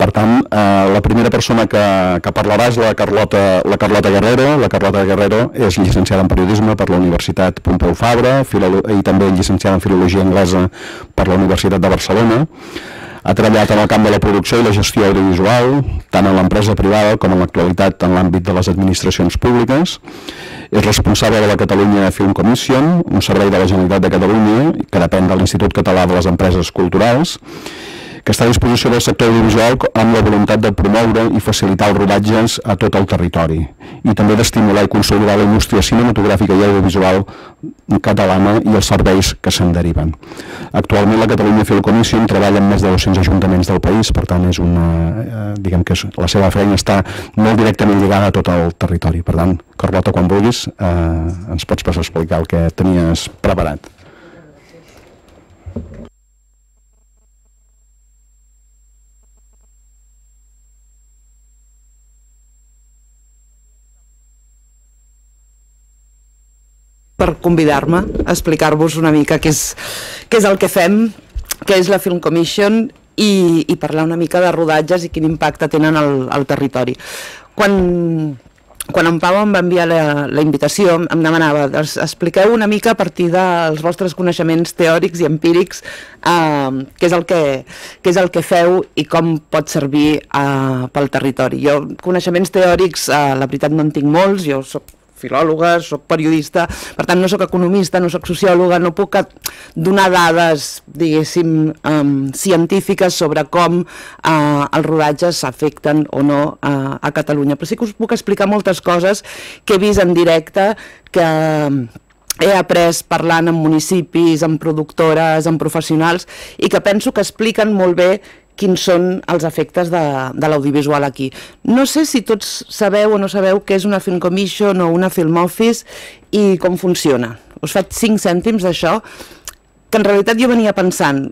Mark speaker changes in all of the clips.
Speaker 1: Per tant, la primera persona que parlarà és la Carlota Guerrero. La Carlota Guerrero és llicenciada en periodisme per la Universitat Pompeu Fabra i també llicenciada en filologia anglesa per la Universitat de Barcelona. Ha treballat en el camp de la producció i la gestió audiovisual, tant en l'empresa privada com en l'actualitat en l'àmbit de les administracions públiques. És responsable de la Catalunya Film Commission, un servei de la Generalitat de Catalunya que depèn de l'Institut Català de les Empreses Culturals, que està a disposició del sector audiovisual amb la voluntat de promoure i facilitar els rodatges a tot el territori i també d'estimular i consolidar la indústria cinematogràfica i audiovisual catalana i els serveis que se'n deriven. Actualment la Catalunya Film Commission treballa en més de 200 ajuntaments del país, per tant és diguem que la seva feina està molt directament lligada a tot el territori. Per tant, Carlota, quan vulguis ens pots passar a explicar el que tenies preparat.
Speaker 2: Per convidar-me a explicar-vos una mica què és el que fem, què és la Film Commission i parlar una mica de rodatges i quin impacte tenen al territori. Quan en Pau em va enviar la invitació em demanava, expliqueu una mica a partir dels vostres coneixements teòrics i empírics què és el que feu i com pot servir pel territori. Jo coneixements teòrics, la veritat no en tinc molts, jo soc filòloga, soc periodista, per tant no soc economista, no soc sociòloga, no puc donar dades, diguéssim, científiques sobre com els rodatges s'afecten o no a Catalunya, però sí que us puc explicar moltes coses que he vist en directe, que he après parlant amb municipis, amb productores, amb professionals, i que penso que expliquen molt bé quins són els efectes de l'audiovisual aquí. No sé si tots sabeu o no sabeu què és una Film Commission o una Film Office i com funciona. Us faig 5 cèntims d'això, que en realitat jo venia pensant,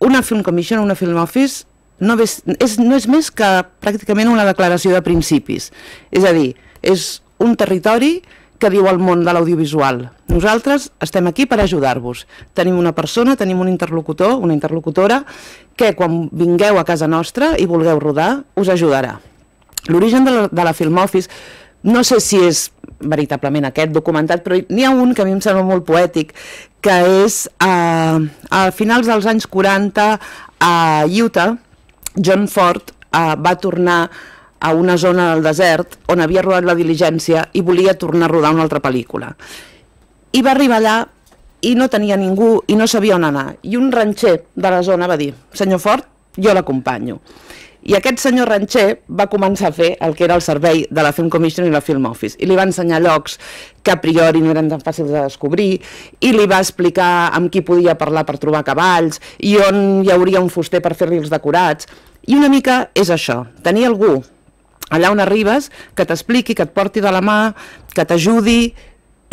Speaker 2: una Film Commission o una Film Office no és més que pràcticament una declaració de principis. És a dir, és un territori que viu al món de l'audiovisual. Nosaltres estem aquí per ajudar-vos. Tenim una persona, tenim un interlocutor, una interlocutora, que quan vingueu a casa nostra i vulgueu rodar, us ajudarà. L'origen de la Film Office, no sé si és veritablement aquest documentat, però n'hi ha un que a mi em sembla molt poètic, que és a finals dels anys 40 a Utah, John Ford va tornar a una zona del desert on havia rodat La diligència i volia tornar a rodar una altra pel·lícula. I va arribar allà i no tenia ningú i no sabia on anar. I un ranxer de la zona va dir, senyor Ford, jo l'acompanyo. I aquest senyor ranxer va començar a fer el que era el servei de la Film Commission i la Film Office. I li va ensenyar llocs que a priori no eren tan fàcils de descobrir, i li va explicar amb qui podia parlar per trobar cavalls, i on hi hauria un fuster per fer-li els decorats. I una mica és això, tenir algú allà on arribes, que t'expliqui, que et porti de la mà, que t'ajudi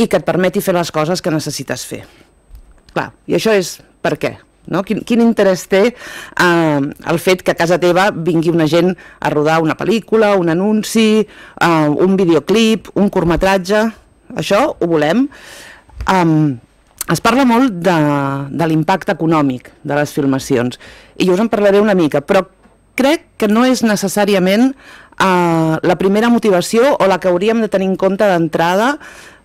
Speaker 2: i que et permeti fer les coses que necessites fer. Clar, i això és per què? Quin interès té el fet que a casa teva vingui una gent a rodar una pel·lícula, un anunci, un videoclip, un curtmetratge? Això ho volem. Es parla molt de l'impacte econòmic de les filmacions, i jo us en parlaré una mica, però crec que no és necessàriament la primera motivació o la que hauríem de tenir en compte d'entrada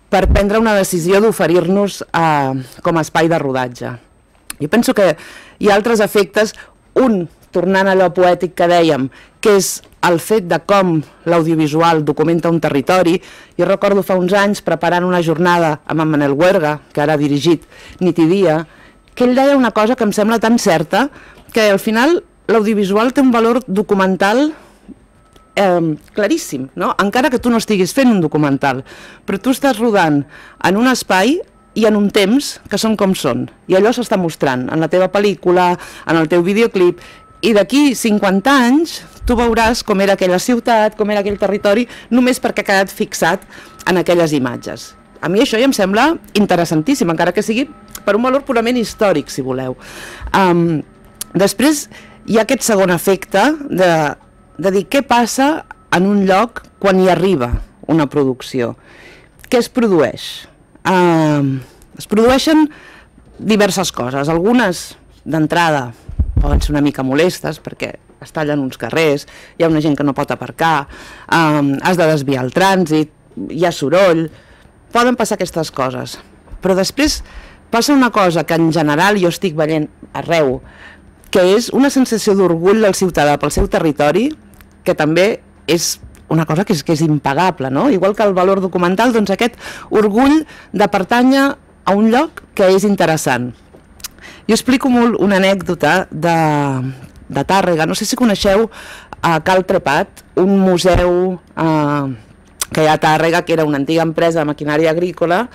Speaker 2: per prendre una decisió d'oferir-nos com a espai de rodatge. Jo penso que hi ha altres efectes, un, tornant a allò poètic que dèiem, que és el fet de com l'audiovisual documenta un territori. Jo recordo fa uns anys preparant una jornada amb en Manel Huerga, que ara ha dirigit Nit i Dia, que ell deia una cosa que em sembla tan certa, que al final l'audiovisual té un valor documental claríssim, encara que tu no estiguis fent un documental, però tu estàs rodant en un espai i en un temps que són com són, i allò s'està mostrant en la teva pel·lícula, en el teu videoclip, i d'aquí 50 anys tu veuràs com era aquella ciutat, com era aquell territori, només perquè ha quedat fixat en aquelles imatges. A mi això ja em sembla interessantíssim, encara que sigui per un valor purament històric, si voleu. Després hi ha aquest segon efecte de dir què passa en un lloc quan hi arriba una producció. Què es produeix? Es produeixen diverses coses, algunes d'entrada poden ser una mica molestes perquè es tallen uns carrers, hi ha una gent que no pot aparcar, has de desviar el trànsit, hi ha soroll, poden passar aquestes coses. Però després passa una cosa que en general jo estic veient arreu, que és una sensació d'orgull del ciutadà pel seu territori, que també és una cosa que és impagable, no? Igual que el valor documental, doncs aquest orgull de pertànyer a un lloc que és interessant. Jo explico molt una anècdota de Tàrrega. No sé si coneixeu a Cal Trepat, un museu que hi ha a Tàrrega, que era una antiga empresa de maquinària agrícola,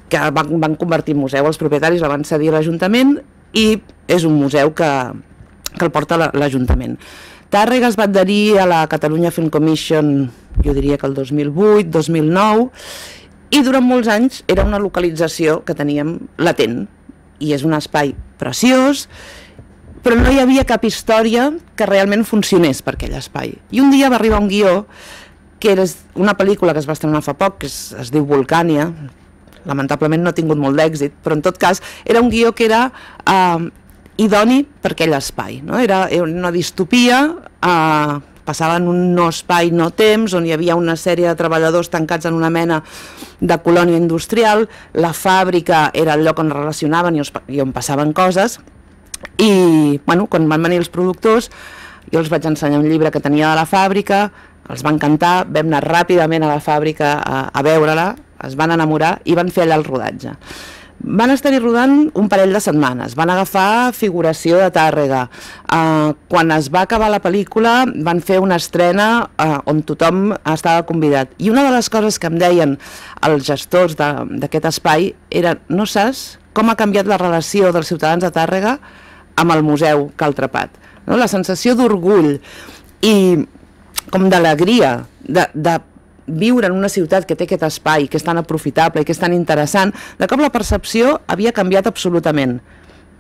Speaker 2: que van convertir en museu. Els propietaris la van cedir a l'Ajuntament i és un museu que el porta l'Ajuntament. Tàrrega es va adherir a la Catalunya Film Commission, jo diria que el 2008, 2009, i durant molts anys era una localització que teníem latent, i és un espai preciós, però no hi havia cap història que realment funcionés per aquell espai. I un dia va arribar un guió, que era una pel·lícula que es va estrenar fa poc, que es diu Volcània, lamentablement no ha tingut molt d'èxit, però en tot cas era un guió que era idoni per aquell espai, no? Era una distopia, passava en un no espai, no temps, on hi havia una sèrie de treballadors tancats en una mena de colònia industrial, la fàbrica era el lloc on relacionaven i on passaven coses, i bueno, quan van venir els productors, jo els vaig ensenyar un llibre que tenia de la fàbrica, els va encantar, vam anar ràpidament a la fàbrica a veure-la, es van enamorar i van fer allà el rodatge. Van estar-hi rodant un parell de setmanes, van agafar figuració de Tàrrega. Quan es va acabar la pel·lícula van fer una estrena on tothom estava convidat. I una de les coses que em deien els gestors d'aquest espai era: no saps com ha canviat la relació dels ciutadans de Tàrrega amb el museu Cal Trepat. La sensació d'orgull i com d'alegria de viure en una ciutat que té aquest espai, que és tan aprofitable i que és tan interessant, de cop la percepció havia canviat absolutament.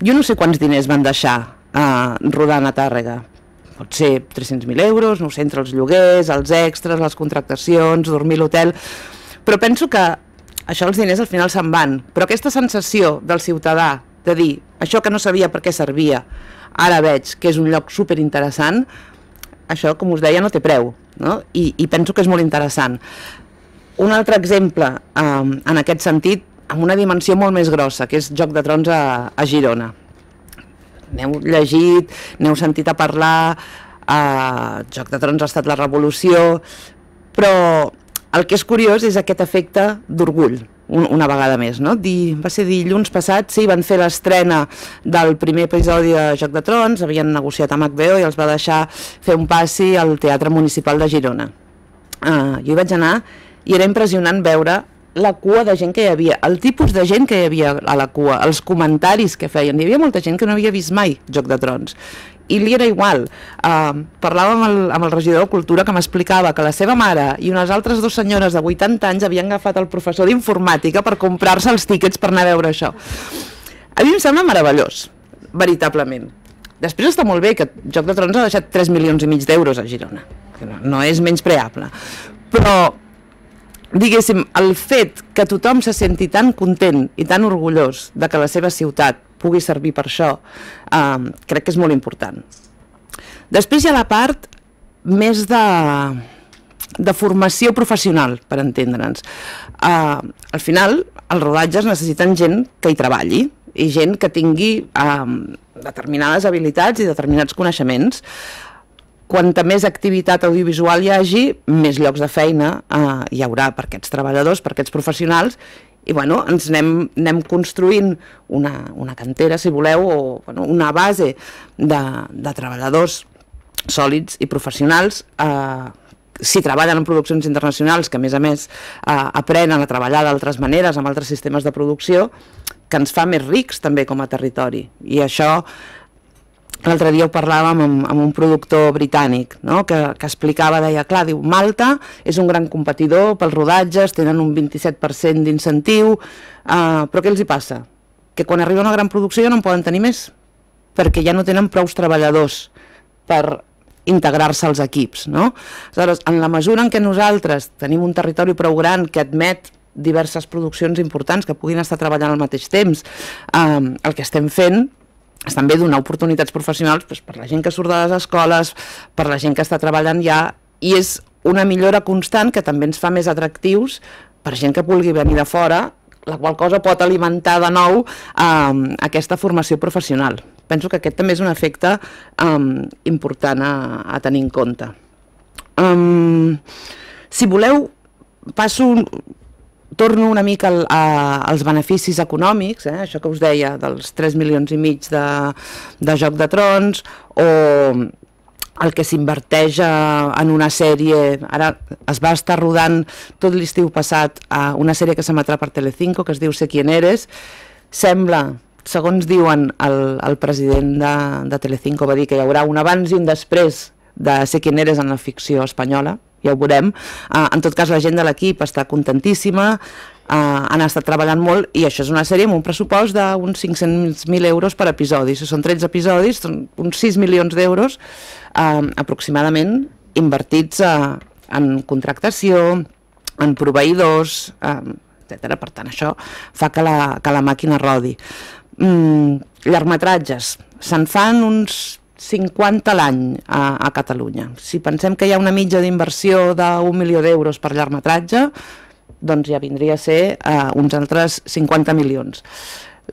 Speaker 2: Jo no sé quants diners van deixar rodant a Tàrrega. Pot ser 300.000 euros, no ho sé, entre els lloguers, els extras, les contractacions, dormir a l'hotel, però penso que això els diners al final se'n van, però aquesta sensació del ciutadà de dir això que no sabia per què servia, ara veig que és un lloc superinteressant, això, com us deia, no té preu, no? I penso que és molt interessant. Un altre exemple, en aquest sentit, amb una dimensió molt més grossa, que és Joc de Trons a Girona. N'heu llegit, n'heu sentit a parlar, Joc de Trons ha estat la revolució, però el que és curiós és aquest efecte d'orgull, una vegada més, no? Va ser dilluns passat, sí, van fer l'estrena del primer episodi de Joc de Trons, havien negociat amb HBO i els va deixar fer un passi al Teatre Municipal de Girona. Jo hi vaig anar i era impressionant veure la cua de gent que hi havia, el tipus de gent que hi havia a la cua, els comentaris que feien. Hi havia molta gent que no havia vist mai Joc de Trons. I li era igual. Parlava amb el regidor de Cultura, que m'explicava que la seva mare i unes altres dues senyores de 80 anys havien agafat el professor d'informàtica per comprar-se els tíquets per anar a veure això. A mi em sembla meravellós, veritablement. Després està molt bé que Joc de Trons ha deixat 3,5 milions d'euros a Girona, que no és menyspreable, però diguéssim, el fet que tothom se senti tan content i tan orgullós de que la seva ciutat pugui servir per això, crec que és molt important. Després hi ha la part més de formació professional, per entendre'ns. Al final, els rodatges necessiten gent que hi treballi i gent que tingui determinades habilitats i determinats coneixements. Quanta més activitat audiovisual hi hagi, més llocs de feina hi haurà per aquests treballadors, per aquests professionals, i bueno, ens anem construint una cantera, si voleu, o una base de treballadors sòlids i professionals, si treballen en produccions internacionals, que a més aprenen a treballar d'altres maneres, amb altres sistemes de producció, que ens fa més rics també com a territori. I això l'altre dia ho parlàvem amb un productor britànic, que explicava, deia, clar, diu, Malta és un gran competidor pels rodatges, tenen un 27% d'incentiu, però què els hi passa? Que quan arriba una gran producció ja no en poden tenir més, perquè ja no tenen prous treballadors per integrar-se als equips, no? Aleshores, en la mesura en què nosaltres tenim un territori prou gran que admet diverses produccions importants que puguin estar treballant al mateix temps, el que estem fent estan bé donar oportunitats professionals per la gent que surt de les escoles, per la gent que està treballant ja, i és una millora constant que també ens fa més atractius per gent que vulgui venir de fora, la qual cosa pot alimentar de nou aquesta formació professional. Penso que aquest també és un efecte important a tenir en compte. Si voleu, torno una mica als beneficis econòmics, això que us deia dels 3,5 milions de Joc de Trons, o el que s'inverteix en una sèrie. Ara es va estar rodant tot l'estiu passat una sèrie que s'emetrà per Telecinco, que es diu Sé quién eres. Sembla, segons diuen, el president de Telecinco va dir que hi haurà un abans i un després de Sé quién eres en la ficció espanyola, ja ho veurem. En tot cas, la gent de l'equip està contentíssima, han estat treballant molt, i això és una sèrie amb un pressupost d'uns 500.000 euros per episodi. Si són 13 episodis, són uns 6 milions d'euros aproximadament invertits en contractació, en proveïdors, etc. Per tant, això fa que la màquina rodi. Llargmetratges, se'n fan uns 50 l'any a Catalunya. Si pensem que hi ha una mitja d'inversió d'1 milió d'euros per llargmetratge, doncs ja vindria a ser uns altres 50 milions.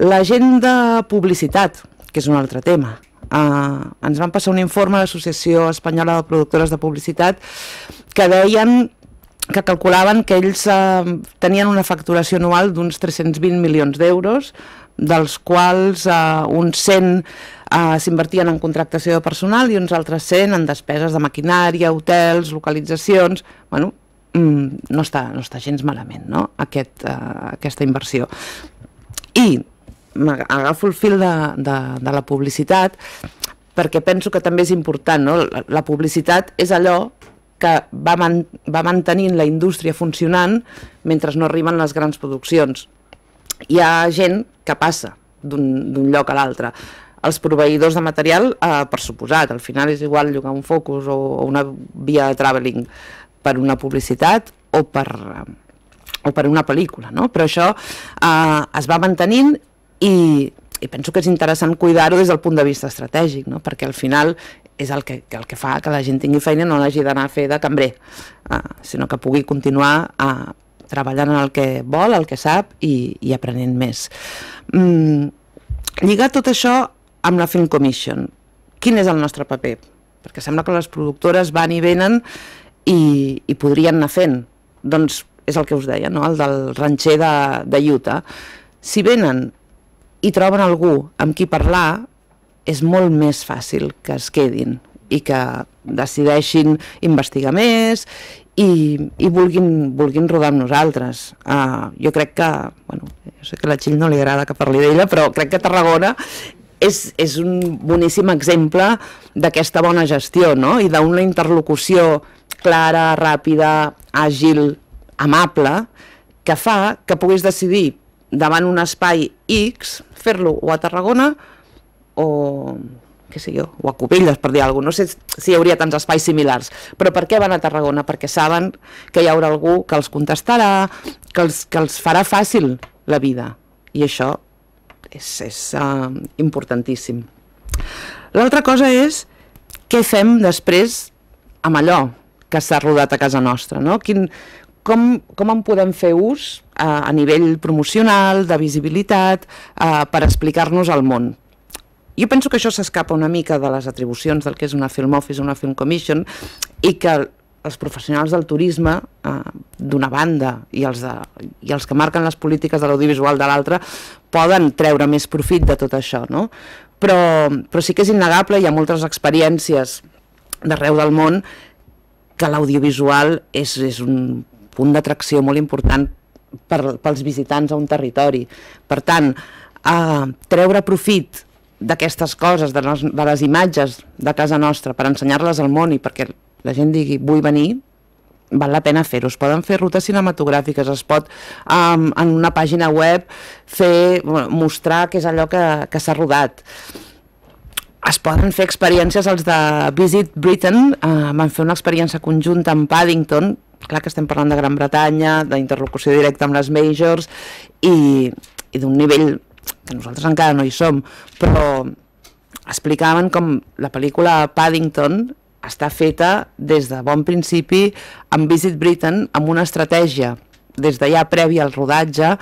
Speaker 2: La gent de publicitat, que és un altre tema. Ens van passar un informe de l'Associació Espanyola de Productores de Publicitat que deien que calculaven que ells tenien una facturació anual d'uns 320 milions d'euros, dels quals uns 100 s'invertien en contractació de personal i uns altres 100 en despeses de maquinària, hotels, localitzacions. Bueno, no està gens malament, no?, aquesta inversió. I agafo el fil de la publicitat perquè penso que també és important, no? La publicitat és allò que va mantenint la indústria funcionant mentre no arriben les grans produccions. Hi ha gent que passa d'un lloc a l'altre. Els proveïdors de material, per suposat, al final és igual llogar un focus o una via de travelling per una publicitat o per una pel·lícula, no? Però això es va mantenint i penso que és interessant cuidar-ho des del punt de vista estratègic, no? Perquè al final és el que fa que la gent tingui feina i no l'hagi d'anar a fer de cambrer, sinó que pugui continuar treballant en el que vol, el que sap i aprenent més. Lligar tot això amb la Film Commission. Quin és el nostre paper? Perquè sembla que les productores van i venen i podrien anar fent. Doncs és el que us deia, no?, el del ranxer de Utah. Si venen i troben algú amb qui parlar, és molt més fàcil que es quedin i que decideixin investigar més i vulguin rodar amb nosaltres. Jo crec que, bueno, jo sé que a la Txell no li agrada que parli d'ella, però crec que Tarragona és un boníssim exemple d'aquesta bona gestió, no?, i d'una interlocució clara, ràpida, àgil, amable, que fa que puguis decidir davant un espai X fer-lo o a Tarragona o què sé jo, o a Cubelles, per dir alguna cosa. No sé si hi hauria tants espais similars, però per què van a Tarragona? Perquè saben que hi haurà algú que els contestarà, que els farà fàcil la vida, i això és importantíssim. L'altra cosa és què fem després amb allò que s'ha rodat a casa nostra, no? Com en podem fer ús a nivell promocional, de visibilitat, per explicar-nos al món. Jo penso que això s'escapa una mica de les atribucions del que és una Film Office o una Film Commission, i que els professionals del turisme d'una banda i els que marquen les polítiques de l'audiovisual de l'altra poden treure més profit de tot això, no? Però sí que és innegable, hi ha moltes experiències d'arreu del món que l'audiovisual és un punt d'atracció molt important pels visitants a un territori. Per tant, treure profit d'aquestes coses, de les imatges de casa nostra, per ensenyar-les al món i perquè la gent digui vull venir, val la pena fer-ho. Es poden fer rutes cinematogràfiques, es pot en una pàgina web mostrar què és allò que s'ha rodat. Es poden fer experiències, els de Visit Britain van fer una experiència conjunta amb Paddington, clar que estem parlant de Gran Bretanya, d'interlocució directa amb les majors i d'un nivell que nosaltres encara no hi som, però explicaven com la pel·lícula Paddington està feta des de bon principi amb Visit Britain, amb una estratègia des de ja prèvia al rodatge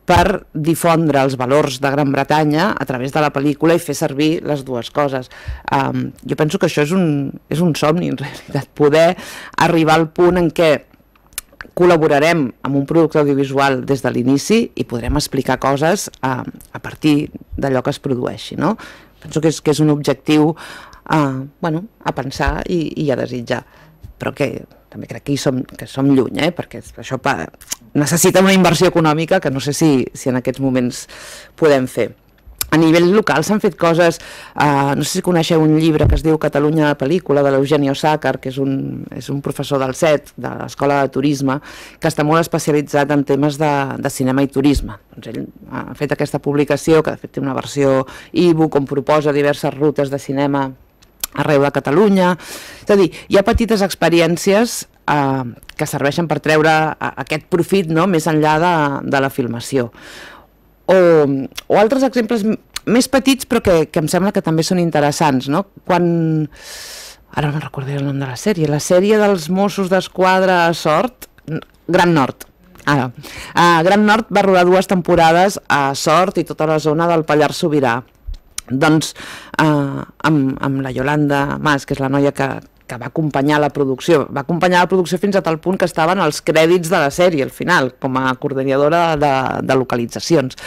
Speaker 2: per difondre els valors de Gran Bretanya a través de la pel·lícula i fer servir les dues coses. Jo penso que això és un somni, en realitat, poder arribar al punt en què col·laborarem amb un producte audiovisual des de l'inici i podrem explicar coses a partir d'allò que es produeixi, no? Penso que és un objectiu a pensar i a desitjar, però que també crec que som lluny, perquè això necessita una inversió econòmica que no sé si en aquests moments podem fer. A nivell local s'han fet coses, no sé si coneixeu un llibre que es diu Catalunya de pel·lícula, de l'Eugenio Sácar, que és un professor del CET, de l'Escola de Turisme, que està molt especialitzat en temes de cinema i turisme. Doncs ell ha fet aquesta publicació, que de fet té una versió e-book on proposa diverses rutes de cinema arreu de Catalunya. És a dir, hi ha petites experiències que serveixen per treure aquest profit més enllà de la filmació. O altres exemples més petits però que em sembla que també són interessants, no? Ara no recordaré el nom de la sèrie dels Mossos d'Esquadra a Sort, Gran Nord. Gran Nord va rodar 2 temporades a Sort i tota la zona del Pallars Sobirà. Doncs amb la Yolanda Mas, que és la noia que va acompanyar la producció. Va acompanyar la producció fins a tal punt que estaven els crèdits de la sèrie, al final, com a coordinadora de localitzacions.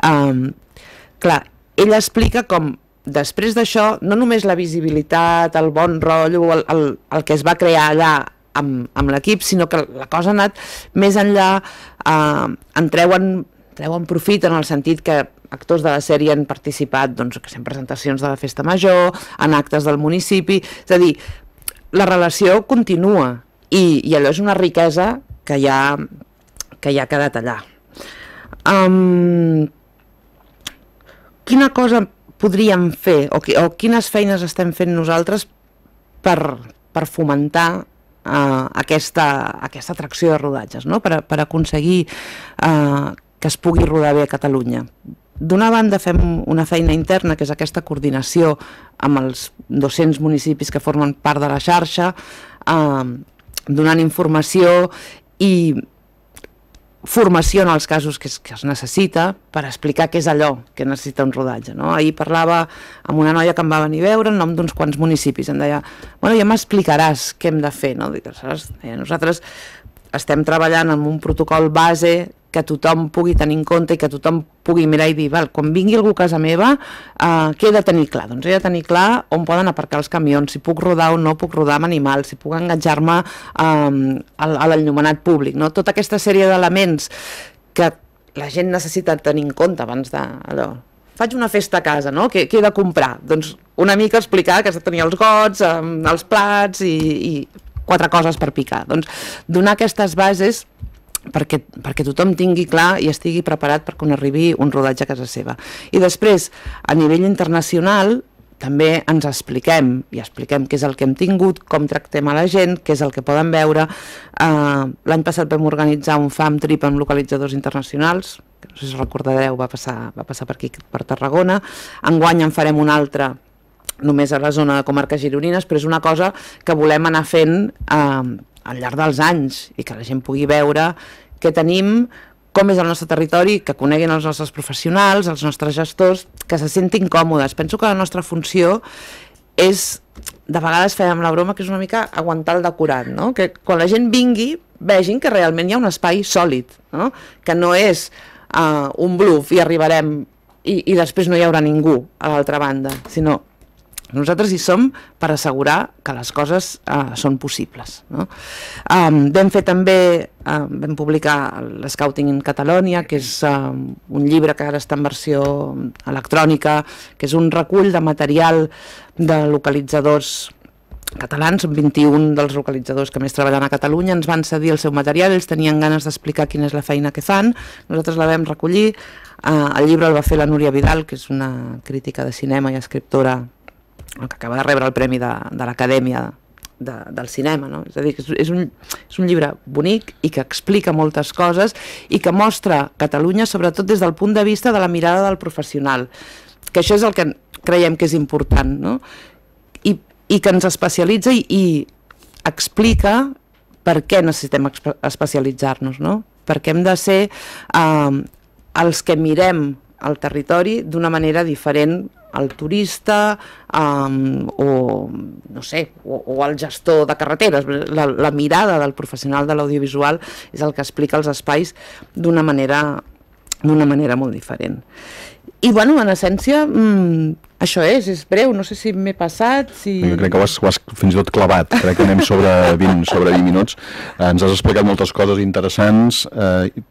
Speaker 2: Clar, ella explica com després d'això, no només la visibilitat, el bon rotllo, el que es va crear allà amb l'equip, sinó que la cosa ha anat més enllà, en treuen profit en el sentit que actors de la sèrie han participat en presentacions de la Festa Major, en actes del municipi, és a dir, la relació continua i allò és una riquesa que ja ha quedat allà. Quina cosa podríem fer o quines feines estem fent nosaltres per fomentar aquesta atracció de rodatges, per aconseguir que es pugui rodar bé a Catalunya? D'una banda fem una feina interna, que és aquesta coordinació amb els 200 municipis que formen part de la xarxa, donant informació i formació en els casos que es necessita per explicar què és allò que necessita un rodatge. Ahir parlava amb una noia que em va venir a veure en nom d'uns quants municipis, em deia, bueno, ja m'explicaràs què hem de fer. Nosaltres estem treballant amb un protocol base que tothom pugui tenir en compte i que tothom pugui mirar i dir, quan vingui algú a casa meva, què he de tenir clar? Doncs he de tenir clar on poden aparcar els camions, si puc rodar o no puc rodar amb animals, si puc enganxar-me a l'enllumenat públic. Tota aquesta sèrie d'elements que la gent necessita tenir en compte abans de... Faig una festa a casa, què he de comprar? Doncs una mica explicar que has de tenir els gots, els plats i 4 coses per picar. Doncs donar aquestes bases perquè tothom tingui clar i estigui preparat per quan arribi un rodatge a casa seva. I després, a nivell internacional, també ens expliquem què és el que hem tingut, com tractem a la gent, què és el que poden veure. L'any passat vam organitzar un fam trip amb localitzadors internacionals, que no sé si recordareu, va passar per aquí, per Tarragona. Enguany en farem un altre només a la zona de comarques gironines, però és una cosa que volem anar fent al llarg dels anys i que la gent pugui veure què tenim, com és el nostre territori, que coneguin els nostres professionals, els nostres gestors, que se sentin còmodes. Penso que la nostra funció és, de vegades fèiem la broma, que és una mica aguantar el decorat, que quan la gent vingui vegin que realment hi ha un espai sòlid, que no és un bluff i arribarem i després no hi haurà ningú a l'altra banda, sinó nosaltres hi som per assegurar que les coses són possibles. Vam fer també, vam publicar l'Scouting in Catalonia, que és un llibre que ara està en versió electrònica, que és un recull de material de localitzadors catalans. 21 dels localitzadors que més treballen a Catalunya ens van cedir el seu material, ells tenien ganes d'explicar quina és la feina que fan, nosaltres la vam recollir. El llibre el va fer la Núria Vidal, que és una crítica de cinema i escriptora que acaba de rebre el premi de l'Acadèmia del Cinema. És a dir, que és un llibre bonic i que explica moltes coses i que mostra Catalunya sobretot des del punt de vista de la mirada del professional, que això és el que creiem que és important, no? I que ens especialitza i explica per què necessitem especialitzar-nos, no? Perquè hem de ser els que mirem el territori d'una manera diferent al turista o no sé, o al gestor de carreteres. La mirada del professional de l'audiovisual és el que explica els espais d'una manera molt diferent. I bueno, en essència això és breu, no sé si m'he passat, si...
Speaker 1: Jo crec que ho has fins i tot clavat, crec que anem sobre 20 minuts. Ens has explicat moltes coses interessants,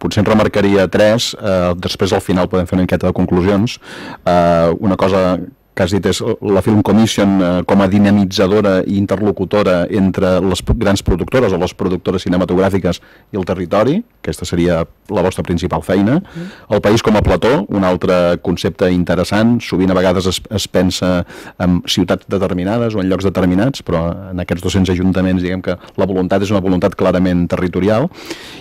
Speaker 1: potser en remarcaria 3, després al final podem fer una miqueta de conclusions. Una cosa que has dit és la Film Commission com a dinamitzadora i interlocutora entre les grans productores o les productores cinematogràfiques i el territori, aquesta seria la vostra principal feina. El país com a plató, un altre concepte interessant, sovint a vegades es pensa en ciutats determinades o en llocs determinats, però en aquests 200 ajuntaments diguem que la voluntat és una voluntat clarament territorial.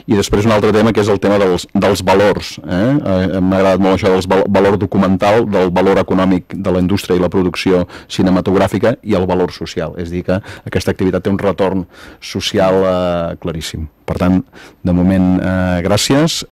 Speaker 1: I després un altre tema que és el tema dels valors. M'ha agradat molt això del valor documental, del valor econòmic de la indústria i la producció cinematogràfica i el valor social, és a dir que aquesta activitat té un retorn social claríssim. Per tant, de moment, gràcies.